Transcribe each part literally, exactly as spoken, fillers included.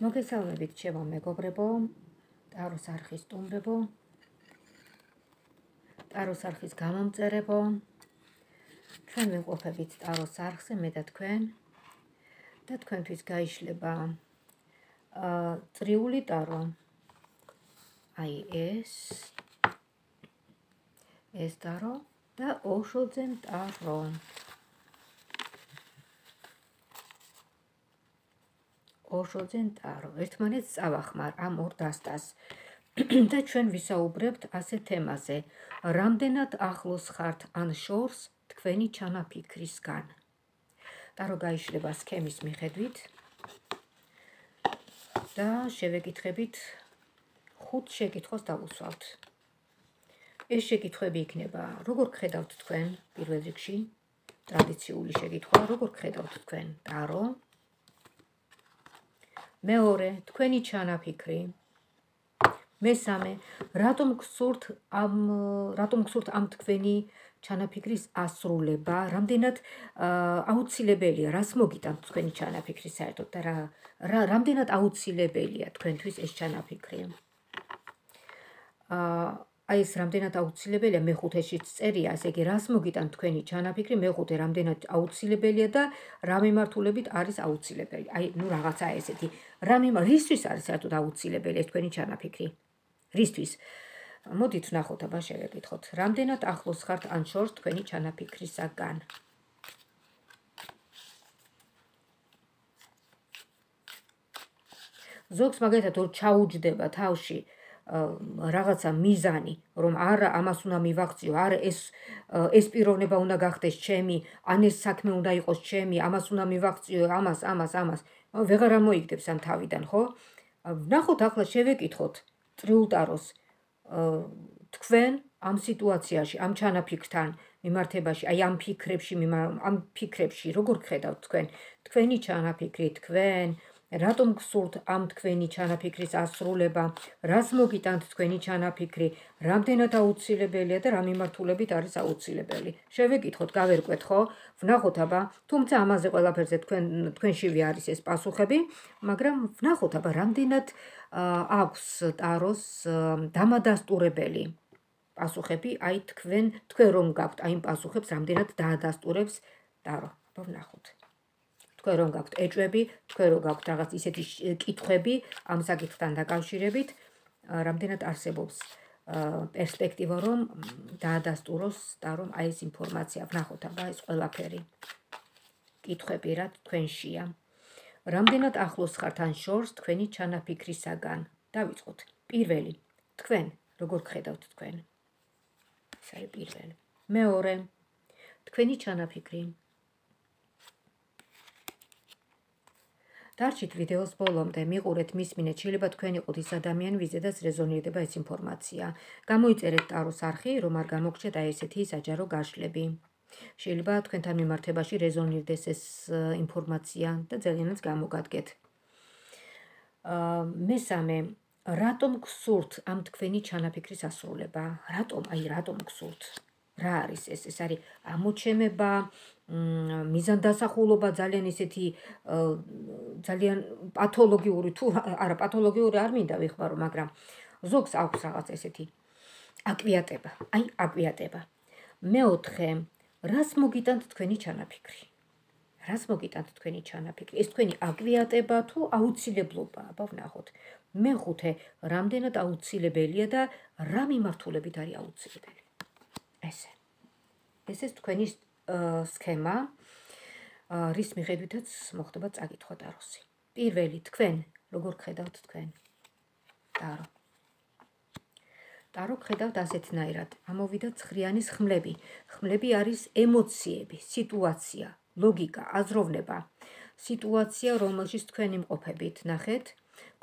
მოგესალმებით ჩემო მეგობრებო, ტაროს არხის სტუმრებო, ტაროს არხის გამომწერებო. ჩვენ ვიმყოფებით ტაროს არხზე, მე და თქვენ. და თქვენთვის გაიშლება წრიული ტარო. აი ეს ეს ტარო და ოშოძენ ტარო. ოშოძენ ტარო. ერთმანეთს წავახმარ ამ ორ დასტას. და ჩვენ ვისაუბრებთ ასე თემაზე, რამდენად ახლოს ხართ ან შორს თქვენი ჩანაფიქრისგან. ტარო გაიშლება სქემის მიხედვით და შევეკითხებით ხუთ შეკითხვას დავუსვავთ. ეს შეკითხვები იქნება, როგორ გხედავთ თქვენ პირველ რიგში, ტრადიციული შეკითხვა, როგორ გხედავთ თქვენ ტარო. მეორე, თქვენი ჩანაფიქრი. მესამე, რატომ გსურთ ამ რატომ გსურთ ამ თქვენი ჩანაფიქრის ასრულება, რამდენად აუცილებელია, რას მოგიტანთ თქვენი ჩანაფიქრი საერთოდ და რა რამდენად აუცილებელია თქვენთვის ეს ჩანაფიქრი. აი ეს რამდენად აუცილებელია მეხუთეშიც წერია, ასე იგი რას მოგიტანთ თქვენი ჩანაფიქრი, მეხუთე რამდენად აუცილებელია და რა მიმართულებით არის აუცილებელი. აი, ნუ რაღაცა ესეთი, რა მიმართ რისთვის არის საერთოდ აუცილებელი ეს თქვენი ჩანაფიქრი? რისთვის? მოდით ვნახოთ, აბა შევეკითხოთ. რამდენად ახლოს ხართ ან შორს თქვენი ჩანაფიქრისაგან? ზოგს მაგალითად ორ ჩაუჯდება თავში რაღაცა მიზანი, რომ არა ამას უნდა მივაღწიო, არა ეს ეს პიროვნება უნდა გახდეს ჩემი, ან ეს საქმე უნდა იყოს ჩემი, ამას უნდა მივაღწიო, ამას, ამას, ამას. ვეღარ ამოიგდებს ამ თავიდან, ხო? ვნახოთ ახლა შევეკითხოთ წრიულ ტაროს თქვენ ამ სიტუაციაში, ამ ჩანაფიქრთან მიმართებაში, აი ამ ფიქრებში, ამ ფიქრებში როგორ გხედავთ თქვენ? თქვენი ჩანაფიქრი, თქვენ რატომ გსურთ ამ თქვენი ჩანაფიქრის ასრულება, რას მოგიტანთ თქვენი ჩანაფიქრი, რამდენად აუცილებელია და რა მიმართულებით არის აუცილებელი. შევეკითხოთ, გავერკვეთ, ხო? ვნახოთ აბა, თუმცა ამაზე ყველაფერზე თქვენ თქვენშივე არის ეს პასუხები, მაგრამ ვნახოთ აბა, რამდენად აქვს ტაროს დამადასტურებელი პასუხები, აი თქვენ თქვენ რომ გაქვთ აი იმ პასუხებს, რამდენად დაადასტურებს ტარო. აბა ვნახოთ. თქვენ რომ გაქვთ ეჭვები, თქვენ რომ გაქვთ რაღაც ისეთი კითხვები ამ საკითხთან დაკავშირებით, რამდენად არსებობს პერსპექტივა, რომ დაადასტუროს ტარომ აი ეს ინფორმაცია. ვნახოთ აბა ეს ყველაფერი. კითხვები რა თქვენშია. რამდენად ახლოს ხართ ან შორს თქვენი ჩანაფიქრისაგან? დავიწყოთ. პირველი, თქვენ როგორ გხედავთ თქვენ? ეს არის პირველი. მეორე, თქვენი ჩანაფიქრი. დარჩით ვიდეოს ბოლომდე, მიყურეთ, მისმინეთ, შეიძლება თქვენ იყოთ ის ადამიანი, ვიზედაც რეზონირდება ეს ინფორმაცია. გამოიწერეთ ტაროს არხი, რომ არ გამოგჩეთ აი ესეთი საჯარო გაშლები. შეიძლება თქვენთან მიმართებაში რეზონირდეს ეს ინფორმაცია და ძალიანაც გამოგადგეთ. მესამე, რატომ გსურთ ამ თქვენი ჩანაფიქრის ასრულება? რატომ? აი რატომ გსურთ? რა არის ეს? ეს არის ამოჩემება, მიზანდასახულობა, ძალიან ისეთი ძალიან პათოლოგიური თუ არა პათოლოგიური არ მინდა ვიხმარო, მაგრამ ზოგს აქვს რაღაც ესეთი აკვიატება, აი აკვიატება. მეოთხე, რას მოგიტანთ თქვენი ჩანაფიქრი? რას მოგიტანთ თქვენი ჩანაფიქრი? ეს თქვენი აკვიატება თუ აუცილებლობა? აბა ვნახოთ. მეხუთე, რამდენად აუცილებელია და რა მიმართულებით არის აუცილებელი? ესე. ესეც თქვენი სქემა, რის მიხედვითაც მოხდება წაკითხვა ტაროსი. პირველი, თქვენ როგორ გხედავთ თქვენ ტარო? ტარო გხედავთ ასეთნაირად. ამოვიდა ცხრიანის ხმლები. ხმლები არის ემოციები, სიტუაცია, ლოგიკა, აზროვნება. სიტუაცია, რომელშიც თქვენ იმყოფებით, ნახეთ,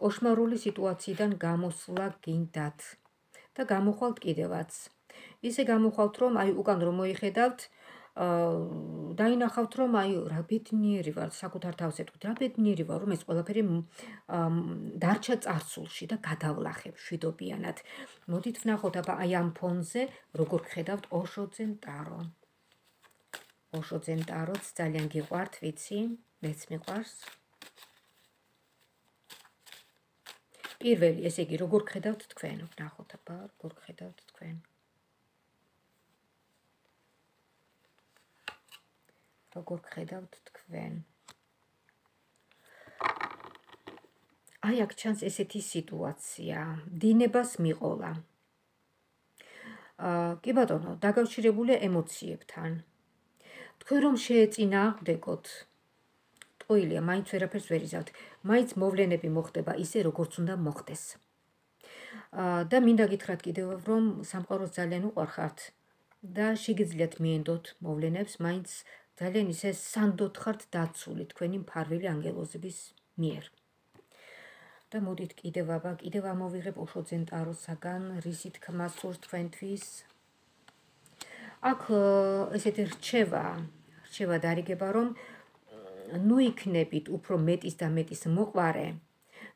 კოშმარული სიტუაციიდან გამოსვლა გინდათ და გამოხვალთ კიდევაც. ისე გამოხვალთ, რომ აი უკან რომ მოიხედავთ, დაინახავთ, რომ აი რა ბედნიერი ვარ, საკუთარ თავს ეტყვით, რა ბედნიერი ვარ, რომ ეს ყველაფერი დარჩა წარსულში და გადავლახებ შვიდობიანად. მოდით ვნახოთ აბა აი ამ ფონზე როგორ გხედავთ ოშოძენ ტარო. ოშოძენ ტაროც ძალიან გიყვართ, ვიცი, მეც მიყვარს. პირველი, ესე იგი, როგორ გხედავთ თქვენ? ვნახოთ აბა, როგორ გხედავთ თქვენ? როგორ გხედავთ თქვენ? აი აქ ჩანს ესეთი სიტუაცია, დინებას მიყოლა. კი ბატონო, დაკავშირებულია ემოციებთან. თქვენ რომ შეეწინააღმდეგოთ, ტყუილია, მაინც ვერაფერს ვერ იზავთ, მაინც მოვლენები მოხდება ისე, როგორც უნდა მოხდეს. და მინდა გითხრათ კიდევ, რომ სამყაროს ძალიან უყვარხართ და შეგიძლიათ მიენდოთ მოვლენებს, მაინც ძალიან ისე სანდოდ ხართ დაცული თქვენი მფარველი ანგელოზების მიერ. და მოდით კიდევ აბა, კიდევ ამოვიღებ ოშოძენ ტაროსაგან, რისი თქმა სურს თქვენთვის. აქ ესეთი რჩევა, რჩევა დარიგება, რომ ნუ იქნებით უფრო მეტის და მეტის მოყვარე,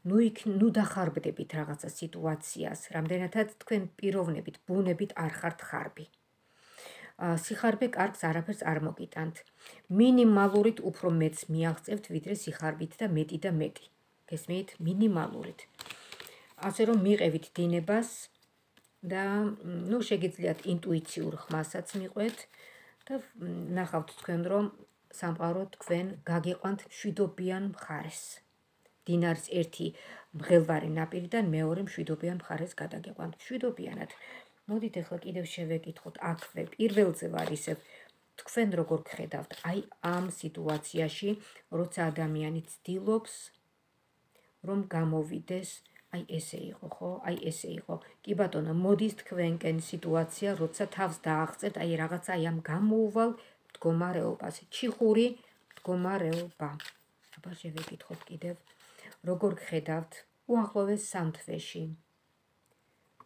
ნუ იქ ნუ დახარბდებით რაღაცა სიტუაციას, რამდენადაც თქვენ პიროვნებით, ბუნებით არ ხართ ხარბი. სიხარბე კარგს არაფერს არ მოგიტანთ. მინიმალურით უფრო მეტს მიაღწევთ, ვიდრე სიხარბით და მეტი და მეტი. გესმით? მინიმალურით. ასე რომ მიყევით დინებას და ნუ შეგიძლიათ ინტუიციურ ხმასაც მიყვეთ და ნახავთ თქვენ რომ სამყარო თქვენ გაგიყვანთ მშვიდობიან მხარეს. დინარის ერთი მღელვარი ნაპირიდან მეორე მშვიდობიან მხარეს გადაგიყვანთ. მშვიდობიანად. მოდით ახლა კიდევ შევეკითხოთ აქვე პირველზე ვარ ისევ თქვენ როგორ გხედავთ აი ამ სიტუაციაში, როცა ადამიანი ცდილობს რომ გამოვიდეს, აი ესე იყო, ხო? აი ესე იყო. კი ბატონო, მოდის თქვენკენ სიტუაცია, როცა თავს დააღწევთ, აი რაღაცა აი ამ გამოუვალ მდგომარეობას, ჩიხური მდგომარეობა. აბა შევეკითხოთ კიდევ, როგორ გხედავთ უახლოვეს სამ თვეში.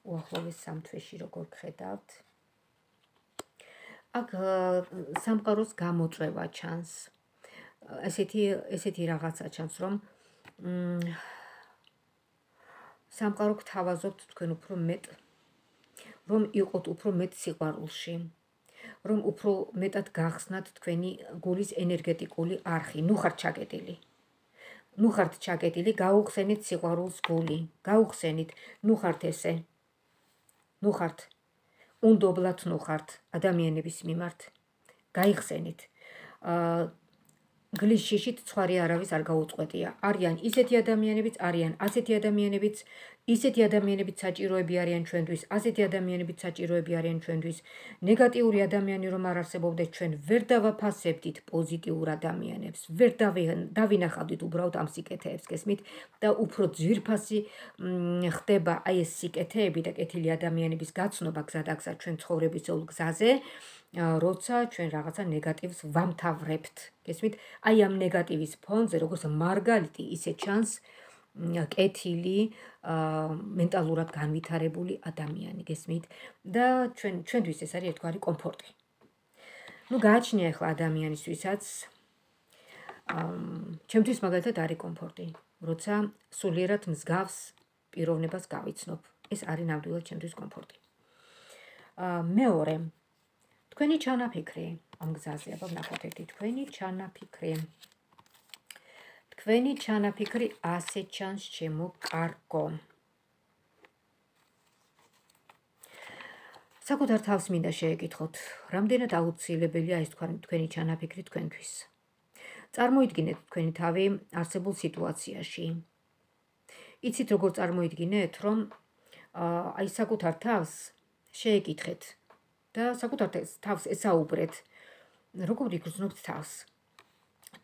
უახლოვეს სამ თვეში როგორ გხედავთ? აქ სამყაროს გამოწვევა ჩანს. ესეთი ესეთი რაღაცა ჩანს, რომ სამყარო გთავაზობთ თქვენ უფრო მეტ, რომ იყოთ უფრო მეტ სიყვარულში, რომ უფრო მეტად გახსნათ თქვენი გულის ენერგეტიკული არხი, ნუ ხართ ჩაკეტილი. ნუ ხართ ჩაკეტილი, გაუხსენით სიყვარულს გული, გაუხსენით, ნუ ხართ ესე. ნუ ხართ. უნდობლად ნუ ხართ ადამიანების მიმართ. გაიხსენით. გლის შიშით ცხვარი არავის არ გაუწყვეტია. არიან ისეთი ადამიანებიც, არიან ასეთი ადამიანებიც, ისეთი ადამიანებიც საჭიროები არიან ჩვენთვის, ასეთი ადამიანებიც საჭიროები არიან ჩვენთვის. ნეგატიური ადამიანი რომ არ არსებობდეს, ჩვენ ვერ დავაფასებდით პოზიტიურ ადამიანებს, ვერ დავინახავდით უბრალოდ ამ სიკეთეებს, გესმით? და უფრო ძვირფასი ხდება აი ეს სიკეთეები და კეთილი ადამიანების გაცნობა გზადაგზად ჩვენ ცხოვრებისეულ გზაზე, როცა ჩვენ რაღაცა ნეგატივს ვამთავრებთ, გესმით? აი ამ ნეგატივის ფონზე, როგორც მარგალიტი, ისე ჩანს კეთილი, მენტალურად განვითარებული ადამიანი, გესმით? და ჩვენ ჩვენთვის ეს არის ერთგვარი კომფორტი. ნუ გააჩნია ახლა ადამიანისთვისაც, ჩემთვის მაგალითად არის კომფორტი, როცა სულიერად მსგავს პიროვნებას გავიცნობ. ეს არის ნამდვილად ჩემთვის კომფორტი. მეორე თქვენი ჩანაფიქრი ამ გზაზე, აბა ვნახოთ ერთი თქვენი ჩანაფიქრი. თქვენი ჩანაფიქრი ასე ჩანს ჩემო კარგო. საკუთარ თავს მინდა შეეკითხოთ, რამდენად აუცილებელია ეს თქვენი ჩანაფიქრი თქვენთვის. წარმოიდგინეთ თქვენი თავი არსებულ სიტუაციაში. იცით როგორ წარმოიდგინეთ, რომ აი საკუთარ თავს შეეკითხეთ და საკუთარ თავს ესაუბრეთ, როგორ იგრძნობთ თავს.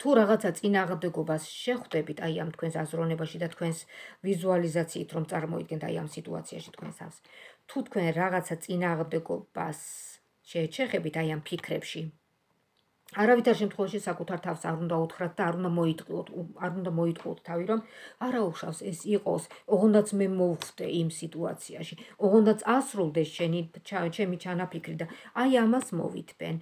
თუ რაღაცა წინააღმდეგობას შეხვდებით აი ამ თქვენს აზროვნებაში და თქვენს ვიზუალიზაციით, რომ წარმოიდგენთ აი ამ სიტუაციაში თქვენს თავს. თუ თქვენ რაღაცა წინააღმდეგობას შეეჩეხებით აი ამ ფიქრებში, არავითარ შემთხვევაში საკუთარ თავს არ უნდა უთხრათ და არ უნდა მოიტყუოთ, არ უნდა მოიტყუოთ თავი, რომ არა უშავს ეს იყოს, ოღონდაც მე მოვხვდე იმ სიტუაციაში, ოღონდაც ასრულდეს შენი ჩემი ჩანაფიქრი და აი ამას მოვითბენ.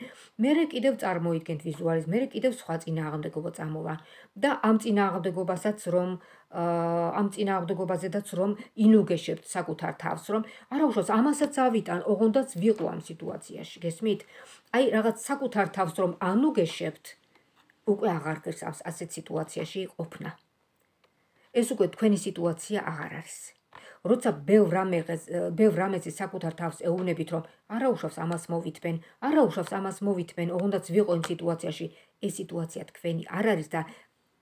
მერე კიდევ წარმოიდგენთ ვიზუალიზ, მერე კიდევ სხვა წინააღმდეგობა წამოვა და ამ წინააღმდეგობასაც რომ ამ წინააღმდეგობაზედაც რომ ინუგეშებთ საკუთარ თავს, რომ არა უშავს ამასაც ავიტან, ოღონდაც ვიყო ამ სიტუაციაში, გესმით? აი რაღაც საკუთარ თავს რომ ანუგეშებთ, უკვე აღარ გესავს ასეთ სიტუაციაში ყოფნა. ეს უკვე თქვენი სიტუაცია აღარ არის. როცა ბევრ რამეს ბევრ რამეზე საკუთარ თავს ეუბნებით, რომ არაუშავს ამას მოვითმენ, არაუშავს ამას მოვითმენ, ოღონდაც ვიყო იმ სიტუაციაში, ეს სიტუაცია თქვენი არ არის და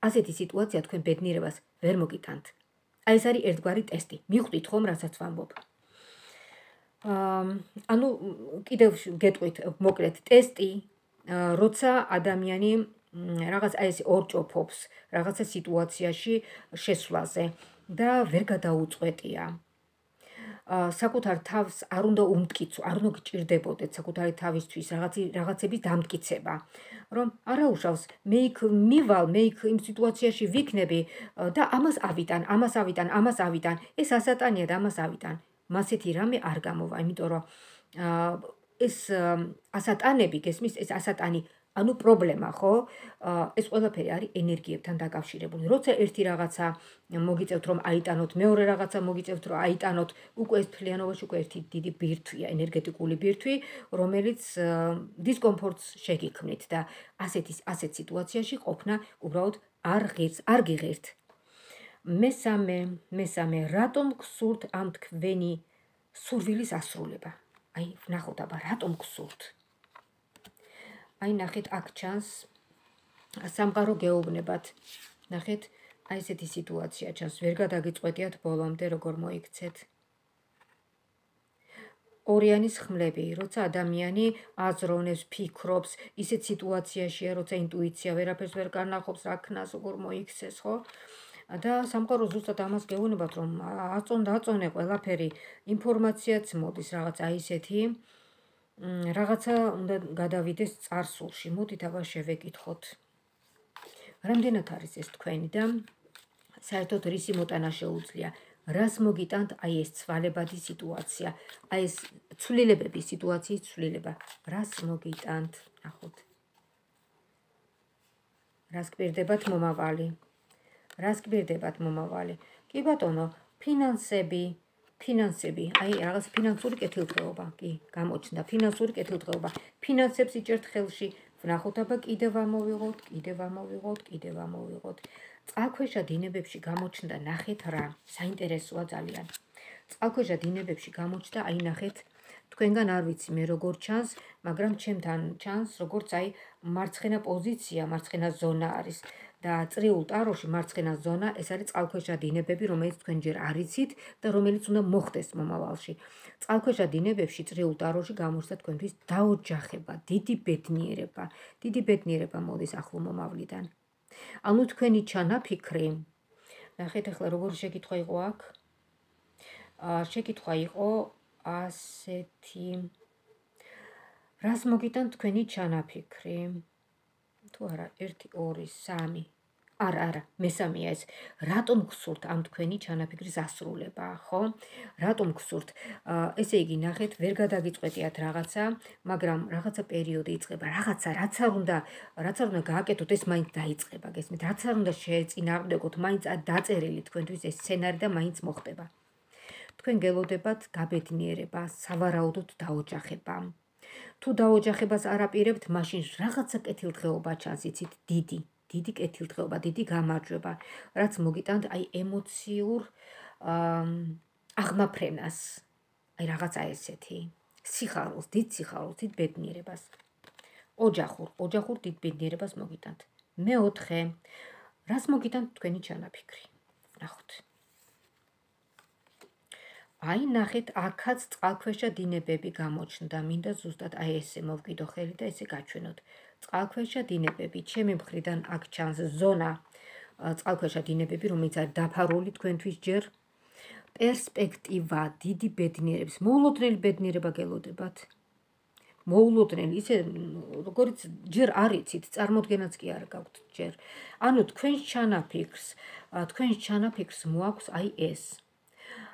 ასეთი სიტუაცია თქვენ ბედნიერებას ვერ მოგიტანთ. აი ეს არის ერთგვარი ტესტი. მიხვდით ხომ, რასაც ვამბობ. ანუ კიდევ გეტყვით მოკლედ ტესტი, როცა ადამიანი რაღაც აი ეს ორჭოფობს რაღაცა სიტუაციაში შესვლაზე და ვერ გადაუწყვეტია. საკუთარ თავს არ უნდა უმტკიცო, არ უნდა გჭირდებოდეთ საკუთარი თავისთვის რაღაცების დამტკიცება, რომ არაუშავს, მე იქ მივალ, მე იქ იმ სიტუაციაში ვიქნები და ამას ავიტან, ამას ავიტან, ამას ავიტან, ეს ასატანია და ამას ავიტან. მასეთი რამე არ გამოვა, იმიტომ რომ ეს ასატანები, გესმის, ეს ასატანი, ანუ პრობლემა, ხო? ეს ყველაფერი არის ენერგიებთან დაკავშირებული. როცა ერთი რაღაცა მოგიწევთ, რომ აიტანოთ, მეორე რაღაცა მოგიწევთ, რომ აიტანოთ, უკვე ეს მთლიანობაში უკვე ერთი დიდი ბირთვია, ენერგეტიკული ბირთვი, რომელიც დისკომფორტს შეგიქმნით და ასეთი ასეთ სიტუაციაში ყოფნა უბრალოდ არ ღირს, არ გიღერთ. მესამე, მესამე, რატომ გსურთ ამ თქვენი სურვილის ასრულება? აი, ვნახოთ აბა, რატომ გსურთ? აი, ნახეთ, აქ ჩანს სამყარო გეუბნებათ. ნახეთ, აი ესეთი სიტუაცია ჩანს, ვერ გადაგიწყვეტიათ ბოლომდე, როგორ მოიქცეთ. ორიანის ხმლები, როცა ადამიანი აზროვნებს, ფიქრობს, ისეთ სიტუაციაშია, როცა ინტუიცია ვერაფერს ვერ განახობს, რა ქნას, როგორ მოიქცეს, ხო? და სამყარო ზუსტად ამას გეუბნებათ, რომ აწონ დაწონე ყველაფერი, ინფორმაციაც მოდის რაღაც აი ესეთი, რაღაცა უნდა გადავიდეს წარსულში. მოდით აბა შევეკითხოთ. რამდენად არის ეს თქვენი და საერთოდ რისი მოტანა შეუძლია? რას მოგიტანთ აი ეს ცვალებადი სიტუაცია? აი ეს ცვლილებების სიტუაციის ცვლილება. რას მოგიტანთ? ნახოთ. რას გპირდებათ მომავალი? რას გპირდებათ მომავალი? კი ბატონო, ფინანსები, ფინანსები, აი რაღაც ფინანსური კეთილდღეობა, კი, გამოჩნდა ფინანსური კეთილდღეობა. ფინანსებს იჭერთ ხელში, ვნახოთ აბა კიდევ ამოვიღოთ, კიდევ ამოვიღოთ, კიდევ ამოვიღოთ. წყალქვეშა დინებებში გამოჩნდა, ნახეთ რა, საინტერესოა ძალიან. წყალქვეშა დინებებში გამოჩნდა, აი ნახეთ, თქვენგან არ ვიცი მე როგორ ჩანს, მაგრამ ჩემთან ჩანს, როგორც აი მარცხენა პოზიცია, მარცხენა ზონა არის. და წრიულ ტაროში მარცხენა ზონა, ეს არის წყალქვეშა დინებები, რომელიც თქვენ ჯერ არ იცით და რომელიც უნდა მოხდეს მომავალში. წყალქვეშა დინებებში წრიულ ტაროში გამოჩნდა თქვენთვის დაოჯახება, დიდი ბედნიერება, დიდი ბედნიერება მოდის ახლო მომავლიდან. ანუ თქვენი ჩანაფიქრი, ნახეთ ახლა როგორი შეკითხვა იყო აქ? შეკითხვა იყო ასეთი, რას მოგიტანთ თქვენი ჩანაფიქრი? თუ არა, ერთი, ორი, სამი. არა, არა, მესამეა ეს. რატომ გსურთ ამ თქვენი ჩანაფიქრის ასრულება, ხო? რატომ გსურთ? ესე იგი, ნახეთ, ვერ გადაგიწყვეტიათ რაღაცა, მაგრამ რაღაცა პერიოდი იწყება, რაღაცა, რაც არ უნდა, რაც არ უნდა გააკეთოთ, ეს მაინც დაიწყება, გესმით? რაც არ უნდა შეეწინააღმდეგოთ, მაინც დაწერილი თქვენთვის ეს სცენარი და მაინც მოხდება. თქვენ გელოდებათ გაბედნიერება, სავარაუდოდ დაოჯახება. თუ დაოჯახებას არ აპირებთ, მაშინ რაღაცა კეთილდღეობა ჩანს, იცით, დიდი, დიდი კეთილდღეობა, დიდი გამარჯვება, რაც მოგიტანთ აი ემოციურ აღმაფრენას, აი რაღაცა ესეთი, სიხარულს, დიდ სიხარულს, დიდ ბედნიერებას. ოჯახურ, ოჯახურ დიდ ბედნიერებას მოგიტანთ. მეოთხე, რას მოგიტანთ თქვენი ჩანაფიქრი? ვნახოთ. აი ნახეთ, აქაც წყალქვეშა დინებები გამოჩნდა, მინდა ზუსტად აი ესე მოვკიდო ხელი და ესე გაჩვენოთ. წყალქვეშა დინებები, ჩემი მხრიდან აქ ჩანს ზონა, წყალქვეშა დინებები, რომელიც არის დაფარული თქვენთვის ჯერ. პერსპექტივა, დიდი ბედნიერების, მოულოდნელი ბედნიერება გელოდებათ. მოულოდნელი, ისე როგორც ჯერ არ იცით, წარმოდგენაც კი არ გაქვთ ჯერ. ანუ თქვენს ჩანაფიქრს, თქვენს ჩანაფიქრს მოაქვს აი ეს.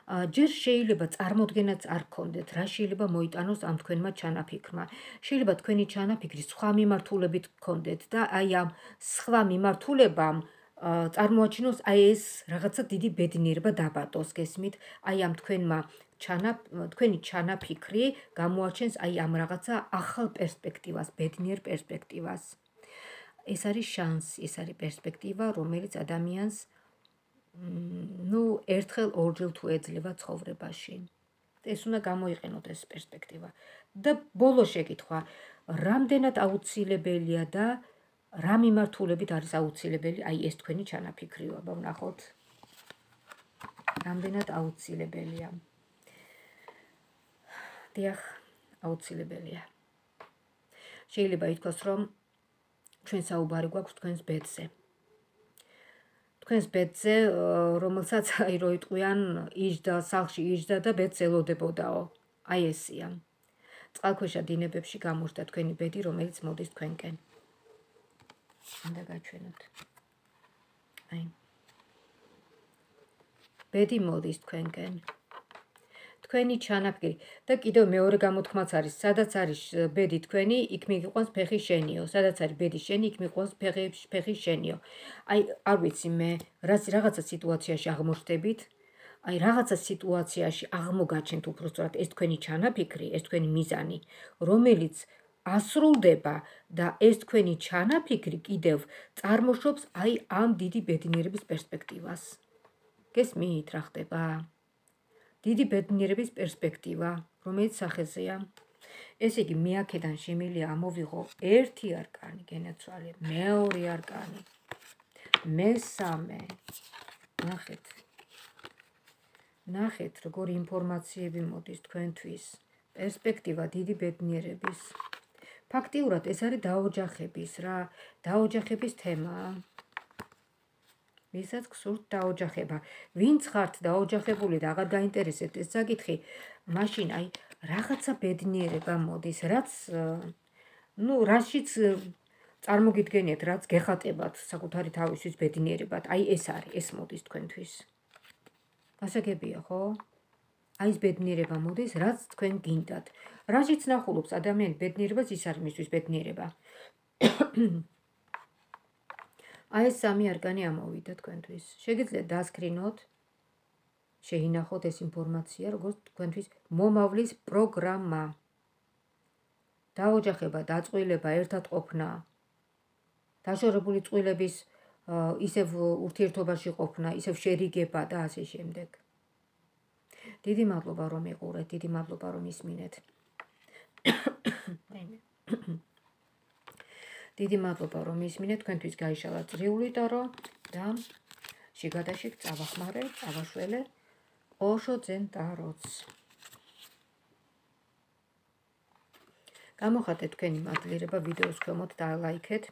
ჯერ შეიძლება წარმოდგენაც არ გქონდეთ, რა შეიძლება მოიტანოს ამ თქვენმა ჩანაფიქრმა. შეიძლება თქვენი ჩანაფიქრი სხვა მიმართულებით გქონდეთ და აი ამ სხვა მიმართულებამ წარმოაჩინოს აი ეს რაღაცა დიდი ბედნიერება დაბატოს, გესმით? აი ამ თქვენმა თქვენი ჩანაფიქრი გამოაჩენს აი ამ რაღაცა ახალ პერსპექტივას, ბედნიერ პერსპექტივას. ეს არის შანსი, ეს არის პერსპექტივა, რომელიც ადამიანს ნუ ერთხელ ორჯერ თუ ეძლევა ცხოვრებაში. ეს უნდა გამოიყენოთ ეს პერსპექტივა. და ბოლო შეკითხვა, რამდენად აუცილებელია და რა მიმართულებით არის აუცილებელი აი ეს თქვენი ჩანაფიქრიობა, ვნახოთ. რამდენად აუცილებელია. დიახ, აუცილებელია. შეიძლება ითქვას, რომ ჩვენ საუბარი გვაქვს თქვენს ბედზე. თქვენს ბედზე, რომელსაც აი რო იტყვიან, იჯდა, სახლში იჯდა და ბედს ელოდებოდაო. აი ესია. წყალქვეშა დინებებში გამოჩნდა თქვენი ბედი, რომელიც მოდის თქვენკენ. უნდა გაჩვენოთ. აი. ბედი მოდის თქვენკენ. თქვენი ჩანაფიქრი და კიდევ მეორე გამოთქმაც არის, სადაც არის ბედი თქვენი, იქ მიგიყვანს ფეხი შენიო. სადაც არის ბედი შენი, იქ მიგიყვანს ფეხი ფეხი შენიო. აი, არ ვიცი მე, რაც რაღაცა სიტუაციაში აღმოჩნდებით, აი რაღაცა სიტუაციაში აღმოგაჩენთ უბრალოდ ეს თქვენი ჩანაფიქრი, ეს თქვენი მიზანი, რომელიც ასრულდება და ეს თქვენი ჩანაფიქრი კიდევ წარმოშობს აი ამ დიდი ბედნიერების პერსპექტივას. გესმით რა ხდება? დიდი ბედნიერების პერსპექტივა, რომელიც სახეზეა. ესე იგი, მე აქედან შემიძლია ამოვიღო ერთი არკანი, გენაცვალე, მეორე არკანი, მესამე. ნახეთ. ნახეთ, როგორი ინფორმაციები მოდის თქვენთვის. პერსპექტივა დიდი ბედნიერების. ფაქტიურად ეს არის დაოჯახების რა, დაოჯახების თემაა. ვისაც გსურთ დაოჯახება. ვინც ხართ დაოჯახებული და აღარ გაინტერესებთ ეს საკითხი, მაშინ აი რაღაცა ბედნიერება მოდის, რაც ნუ რაშიც წარმოგიდგენიათ, რაც გეხატებათ საკუთარი თავისთვის ბედნიერებად. აი ეს არის, ეს მოდის თქვენთვის. გასაგებია, ხო? აი ეს ბედნიერება მოდის, რაც თქვენ გინდათ. რაშიც ნახულობს ადამიანი ბედნიერებას, ის არის მისთვის ბედნიერება. აი ეს სამი არკანი ამოვიდა თქვენთვის. შეგიძლიათ დასკრინოთ, შეინახოთ ეს ინფორმაცია, როგორც თქვენთვის მომავლის პროგრამა. დაოჯახება, დაწყვილება, ერთად ყოფნა, დაშორებული წყვილების ისევ ურთიერთობაში ყოფნა, ისევ შერიგება და ასე შემდეგ. დიდი მადლობა რომ იყურეთ, დიდი მადლობა რომ ისმინეთ. დიდი მადლობა რომ ისმინეთ, თქვენთვის გაიშალა წრიული ტარო და შიგადაშიგ წავახმარე, წავაშველე ოშო ძენ ტაროც. გამოხატეთ თქვენი მადლიერება ვიდეოს ქვემოთ და ლაიქეთ.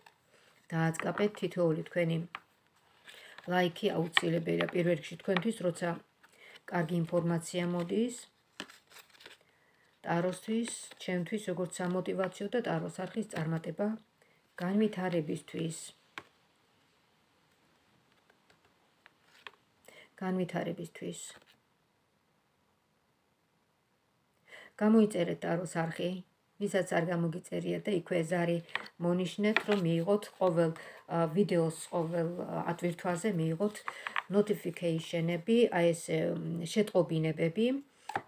დააწყაპეთ თითოეული თქვენი ლაიქი აუცილებელია პირველ რიგში თქვენთვის, როცა კარგი ინფორმაცია მოდის ტაროსთვის, ჩემთვის როგორც სამოტივაციო და ტაროს არხის წარმატება განვითარებისთვის. განვითარებისთვის. გამოიწერეთ ტაროს არხი, ვისაც არ გამოგიწერიათ და იქვე ზარი მონიშნეთ, რომ მიიღოთ ყოველ ვიდეოს, ყოველ ატვირთვაზე მიიღოთ notification-ები, აი ეს შეტყობინებები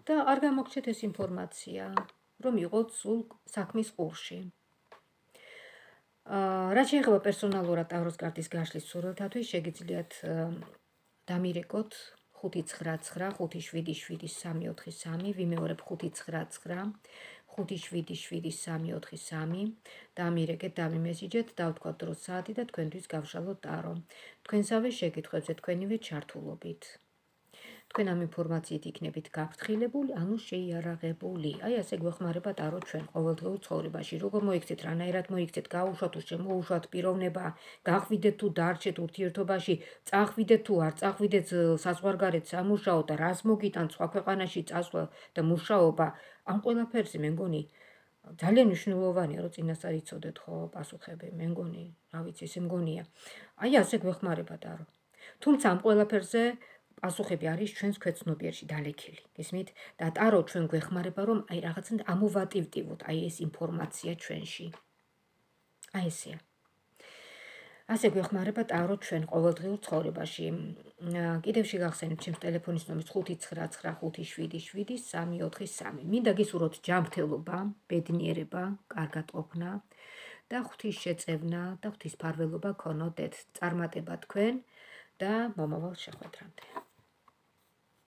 და არ გამოგჩეთ ეს ინფორმაცია, რომ იყოთ სულ საქმის ყურში. რაც შეეხება პერსონალურად ტაროს კარტის გაშლის სურვილთათვის, შეგიძლიათ დამირეკოთ ხუთი ცხრა ცხრა ხუთი შვიდი შვიდი სამი ოთხი სამი, ვიმეორებ ხუთი ცხრა ცხრა ხუთი შვიდი შვიდი სამი ოთხი სამი, დამირეკეთ, დავიმესიჯეთ, დავთქვათ დრო საათი და თქვენთვის გავშალოთ ტარო. თქვენსავე შეკითხვებზე თქვენივე ჩართულობით. თქვენ ამ ინფორმაციით იქნებით გაფრთხილებული, ანუ შეიარაღებული. აი ასე გვეხმარება ტარო ჩვენ ყოველდღიურ ცხოვრებაში. როგორ მოიქცეთ, რანაირად მოიქცეთ, გაუშვათ თუ შემოუშვათ პიროვნება, გახვიდეთ თუ დარჩეთ ურთიერთობაში, წახვიდეთ თუ არ წახვიდეთ საზღვარგარეთ სამუშაოდ და რას მოგიტანთ სხვა ქვეყანაში წასვლა და მუშაობა, ამ ყველაფერზე მე მგონი ძალიან მნიშვნელოვანია, რომ წინასწარ იცოდეთ ხო პასუხები, მე მგონი, რა ვიცი, ესე მგონია. აი ასე გვეხმარება ტარო. თუმცა ამ ყველაფერზე პასუხები არის ჩვენს ქვეცნობიერში დალექილი. გესმით? და ტარო ჩვენ გვეხმარება, რომ აი რაღაცნაირად ამოვატივტივოთ აი ეს ინფორმაცია ჩვენში. აი ესეა. ასე გვეხმარება ტარო ჩვენ ყოველდღიურ ცხოვრებაში. კიდევ შეგახსენებთ ჩემს ტელეფონის ნომერს ხუთი ცხრა ცხრა ხუთი შვიდი შვიდი სამი ოთხი სამი. მინდა გისურვოთ ჯანმრთელობა, ბედნიერება, კარგად ყოფნა და ღვთის შეწევნა და ღვთისმფარველობა გქონოდეთ. წარმატება თქვენ და მომავალ შეხვედრამდე.